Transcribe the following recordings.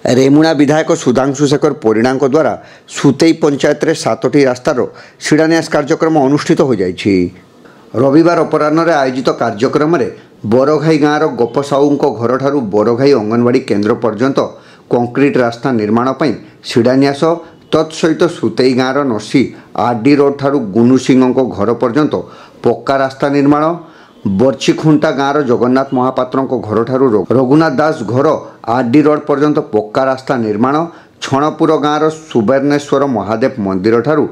ରେମୁଣା ବିଧାୟକ ସୁଧାଂଶୁ ଶେଖର ପରିଡ଼ାଙ୍କ ଦ୍ୱାରା ସୁତେଇ ପଞ୍ଚାୟତରେ 7ଟି ରାସ୍ତାର ଶିଳାନ୍ୟାସ କାର୍ଯ୍ୟକ୍ରମ ଅନୁଷ୍ଠିତ ହୋଇଯାଇଛି। ରବିବାର ଅପରାହ୍ନରେ ଆୟୋଜିତ କାର୍ଯ୍ୟକ୍ରମରେ ବରଘାଇ ଗାଁର ଗୋପ ସାହୁଙ୍କ ଘରଠାରୁ ବରଘାଇ ଅଙ୍ଗନବାଡ଼ି କେନ୍ଦ୍ର ପର୍ଯ୍ୟନ୍ତ କଂକ୍ରିଟ ରାସ୍ତା ନିର୍ମାଣ ପାଇଁ ଶିଳାନ୍ୟାସ, ତତ୍ସହିତ ସୁତେଇ ଗାଁର ନସି ଆର୍ ଡି ରୋଡ଼ଠାରୁ ଗୁନୁ ସିଂହଙ୍କ ଘର ପର୍ଯ୍ୟନ୍ତ ପକ୍କା ରାସ୍ତା ନିର୍ମାଣ, ବର୍ଚିଖୁଣ୍ଟା ଗାଁର ଜଗନ୍ନାଥ ମହାପାତ୍ରଙ୍କ ଘରଠାରୁ ରଘୁନାଥ ଦାସ ଘର ଆର୍ ଡି ରୋଡ଼ ପର୍ଯ୍ୟନ୍ତ ପକ୍କା ରାସ୍ତା ନିର୍ମାଣ, ଛଣପୁର ଗାଁର ସୁବର୍ଣ୍ଣେଶ୍ୱର ମହାଦେବ ମନ୍ଦିରଠାରୁ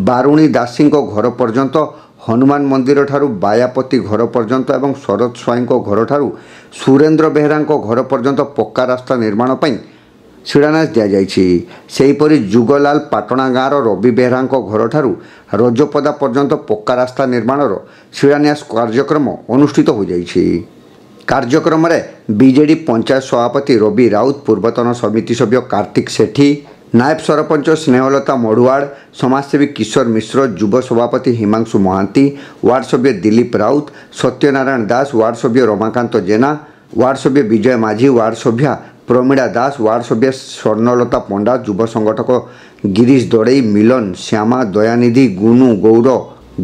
ବାରୁଣୀ ଦାସୀଙ୍କ ଘର ପର୍ଯ୍ୟନ୍ତ, ହନୁମାନ ମନ୍ଦିରଠାରୁ ବାୟାପତି ଘର ପର୍ଯ୍ୟନ୍ତ ଏବଂ ଶରତ ସ୍ୱାଇଁଙ୍କ ଘରଠାରୁ ସୁରେନ୍ଦ୍ର ବେହେରାଙ୍କ ଘର ପର୍ଯ୍ୟନ୍ତ ପକ୍କା ରାସ୍ତା ନିର୍ମାଣ ପାଇଁ ଶିଳାନ୍ୟାସ ଦିଆଯାଇଛି। ସେହିପରି ଯୁଗଲାଲ ପାଟଣା ଗାଁର ରବି ବେହେରାଙ୍କ ଘରଠାରୁ ରଜପଦା ପର୍ଯ୍ୟନ୍ତ ପକ୍କା ରାସ୍ତା ନିର୍ମାଣର ଶିଳାନ୍ୟାସ କାର୍ଯ୍ୟକ୍ରମ ଅନୁଷ୍ଠିତ ହୋଇଯାଇଛି। କାର୍ଯ୍ୟକ୍ରମରେ ବିଜେଡି ପଞ୍ଚାୟତ ସଭାପତି ରବି ରାଉତ, ପୂର୍ବତନ ସମିତି ସଭ୍ୟ କାର୍ତ୍ତିକ ସେଠୀ, ନାୟବ ସରପଞ୍ଚ ସ୍ନେହଲତା ମଢୁଆଳ, ସମାଜସେବୀ କିଶୋର ମିଶ୍ର, ଯୁବ ସଭାପତି ହିମାଂଶୁ ମହାନ୍ତି, ୱାର୍ଡ ସଭ୍ୟ ଦିଲ୍ଲୀପ ରାଉତ, ସତ୍ୟନାରାୟଣ ଦାସ, ୱାର୍ଡ ସଭ୍ୟ ରମାକାନ୍ତ ଜେନା, ୱାର୍ଡ ସଭ୍ୟ ବିଜୟ ମାଝୀ, ୱାର୍ଡ ସଭ୍ୟା ପ୍ରମିଳା ଦାସ, ୱାର୍ଡ ସଭ୍ୟ ସ୍ୱର୍ଣ୍ଣଲତା ପଣ୍ଡା, ଯୁବ ସଂଗଠକ ଗିରିଶ ଦଳେଇ, ମିଲନ, ଶ୍ୟାମା, ଦୟାନିଧି, ଗୁନୁ, ଗୌର,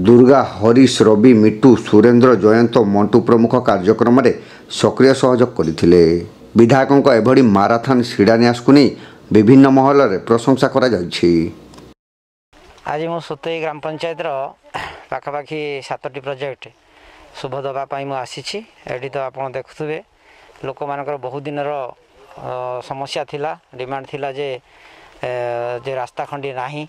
ଦୁର୍ଗା, ହରିଶ, ରବି, ମିଟୁ, ସୁରେନ୍ଦ୍ର, ଜୟନ୍ତ, ମଣ୍ଟୁ ପ୍ରମୁଖ କାର୍ଯ୍ୟକ୍ରମରେ ସକ୍ରିୟ ସହଯୋଗ କରିଥିଲେ। ବିଧାୟକଙ୍କ ଏଭଳି ମାରାଥନ୍ ଶିଳାନ୍ୟାସକୁ ନେଇ ବିଭିନ୍ନ ମହଲରେ ପ୍ରଶଂସା କରାଯାଇଛି। ଆଜି ମୁଁ ସୁତେଇ ଗ୍ରାମ ପଞ୍ଚାୟତର ପାଖାପାଖି 7ଟି ପ୍ରୋଜେକ୍ଟ ଶୁଭ ଦେବା ପାଇଁ ମୁଁ ଆସିଛି। ଏଠି ତ ଆପଣ ଦେଖୁଥିବେ, ଲୋକମାନଙ୍କର ବହୁ ଦିନର ସମସ୍ୟା ଥିଲା, ଡିମାଣ୍ଡ ଥିଲା ଯେ ରାସ୍ତା ଖଣ୍ଡିଏ ନାହିଁ।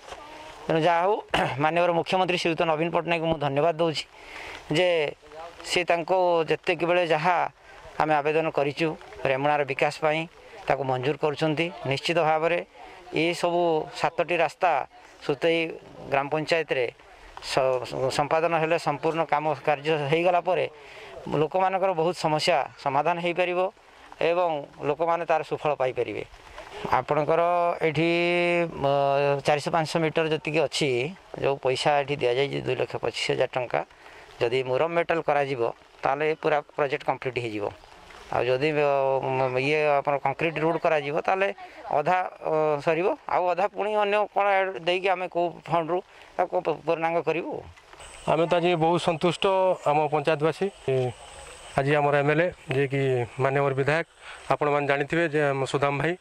ତେଣୁ ଯାହା ହେଉ, ମାନ୍ୟବର ମୁଖ୍ୟମନ୍ତ୍ରୀ ଶ୍ରୀଯୁକ୍ତ ନବୀନ ପଟ୍ଟନାୟକଙ୍କୁ ମୁଁ ଧନ୍ୟବାଦ ଦେଉଛି ଯେ ସେ ତାଙ୍କୁ ଯେତିକି ବେଳେ ଯାହା ଆମେ ଆବେଦନ କରିଛୁ ରେମୁଣାର ବିକାଶ ପାଇଁ, ତାକୁ ମଞ୍ଜୁର କରୁଛନ୍ତି। ନିଶ୍ଚିତ ଭାବରେ ଏସବୁ 7ଟି ରାସ୍ତା ସୁତେଇ ଗ୍ରାମ ପଞ୍ଚାୟତରେ ସମ୍ପାଦନ ହେଲେ, ସମ୍ପୂର୍ଣ୍ଣ କାମ କାର୍ଯ୍ୟ ହେଇଗଲା ପରେ ଲୋକମାନଙ୍କର ବହୁତ ସମସ୍ୟା ସମାଧାନ ହେଇପାରିବ ଏବଂ ଲୋକମାନେ ତା'ର ସୁଫଳ ପାଇପାରିବେ। ଆପଣଙ୍କର ଏଠି 400-500 ମିଟର ଯେତିକି ଅଛି, ଯେଉଁ ପଇସା ଏଠି ଦିଆଯାଇଛି 2,25,000 ଟଙ୍କା, ଯଦି ମୁରମ ମେଟାଲ କରାଯିବ ତାହେଲେ ପୁରା ପ୍ରୋଜେକ୍ଟ କମ୍ପ୍ଲିଟ୍ ହେଇଯିବ। ଆଉ ଯଦି ଇଏ ଆପଣ କଂକ୍ରିଟ୍ ରୋଡ଼ କରାଯିବ, ତାହେଲେ ଅଧା ସରିବ, ଆଉ ଅଧା ପୁଣି ଅନ୍ୟ କ'ଣ ଦେଇକି ଆମେ କେଉଁ ଫଣ୍ଡରୁ ତାକୁ ପୂର୍ଣ୍ଣାଙ୍ଗ କରିବୁ। ଆମେ ତ ଆଜି ବହୁତ ସନ୍ତୁଷ୍ଟ ଆମ ପଞ୍ଚାୟତବାସୀ। ଆଜି ଆମର ଏମ୍ ଏଲ୍ ଏ, ଯିଏକି ମାନ୍ୟବର ବିଧାୟକ, ଆପଣମାନେ ଜାଣିଥିବେ ଯେ ଆମ ସୁଦାମ ଭାଇ,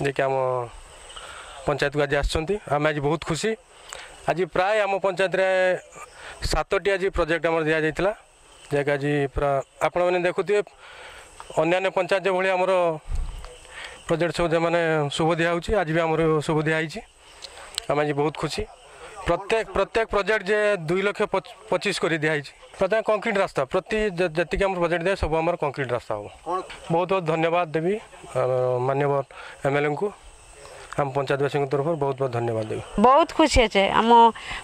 ଯିଏକି ଆମ ପଞ୍ଚାୟତକୁ ଆଜି ଆସିଛନ୍ତି, ଆମେ ଆଜି ବହୁତ ଖୁସି। ଆଜି ପ୍ରାୟ ଆମ ପଞ୍ଚାୟତରେ 7ଟି ଆଜି ପ୍ରୋଜେକ୍ଟ ଆମର ଦିଆଯାଇଥିଲା, ଯାହାକି ଆଜି ପୁରା ଆପଣମାନେ ଦେଖୁଥିବେ, ଅନ୍ୟାନ୍ୟ ପଞ୍ଚାୟତ ଯେଭଳି ଆମର ପ୍ରୋଜେକ୍ଟ ସବୁ ଯେଉଁମାନେ ଶୁଭ ଦିଆହେଉଛି, ଆଜି ବି ଆମର ଶୁଭ ଦିଆହେଇଛି। ଆମେ ଆଜି ବହୁତ ଖୁସି। ପ୍ରତ୍ୟେକ ପ୍ରୋଜେକ୍ଟ ଯେ 2 ଲକ୍ଷ 25 କରି ଦିଆହେଇଛି, ପ୍ରତ୍ୟେକ କଂକ୍ରିଟ ରାସ୍ତା। ପ୍ରତି ଯେତିକି ଆମର ପ୍ରୋଜେକ୍ଟ ଦିଆ, ସବୁ ଆମର କଂକ୍ରିଟ ରାସ୍ତା ହେବ। ବହୁତ ବହୁତ ଧନ୍ୟବାଦ ଦେବି ମାନ୍ୟବର ଏମ୍ଏଲ୍ଏଙ୍କୁ। ଆମ ପଞ୍ଚାୟତବାସୀଙ୍କ ତରଫରୁ ବହୁତ ବହୁତ ଧନ୍ୟବାଦ ଦେବି। ବହୁତ ଖୁସି ଅଛେ। ଆମ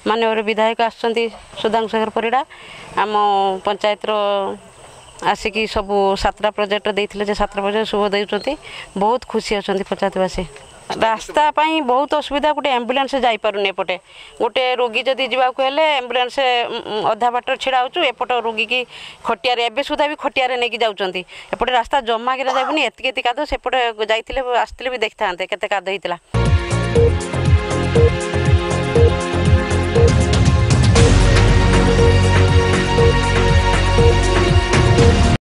ମାନ୍ୟବର ବିଧାୟକ ଆସୁଛନ୍ତି ସୁଧାଂଶୁ ଶେଖର ପରିଡ଼ା, ଆମ ପଞ୍ଚାୟତର ଆସିକି ସବୁ 7ଟା ପ୍ରୋଜେକ୍ଟ ଦେଇଥିଲେ ଯେ 7ଟା ପ୍ରୋଜେକ୍ଟ ଶୁଭ ଦେଉଛନ୍ତି। ବହୁତ ଖୁସି ଅଛନ୍ତି ପଞ୍ଚାୟତବାସୀ। ରାସ୍ତା ପାଇଁ ବହୁତ ଅସୁବିଧା। ଗୋଟେ ଆମ୍ବୁଲାନ୍ସ ଯାଇପାରୁନି ଏପଟେ। ଗୋଟେ ରୋଗୀ ଯଦି ଯିବାକୁ ହେଲେ ଆମ୍ବୁଲାନ୍ସ ଅଧା ବାଟରେ ଛିଡ଼ା ହେଉଛୁ। ଏପଟ ରୋଗୀକି ଖଟିଆରେ, ଏବେ ସୁଦ୍ଧା ବି ଖଟିଆରେ ନେଇକି ଯାଉଛନ୍ତି। ଏପଟେ ରାସ୍ତା ଜମା କିନା ଯାଉନି, ଏତିକି ଏତିକି କାଦୁଅ। ସେପଟେ ଯାଇଥିଲେ, ଆସିଥିଲେ ବି ଦେଖିଥାନ୍ତେ କେତେ କାଦୁଅ ହେଇଥିଲା।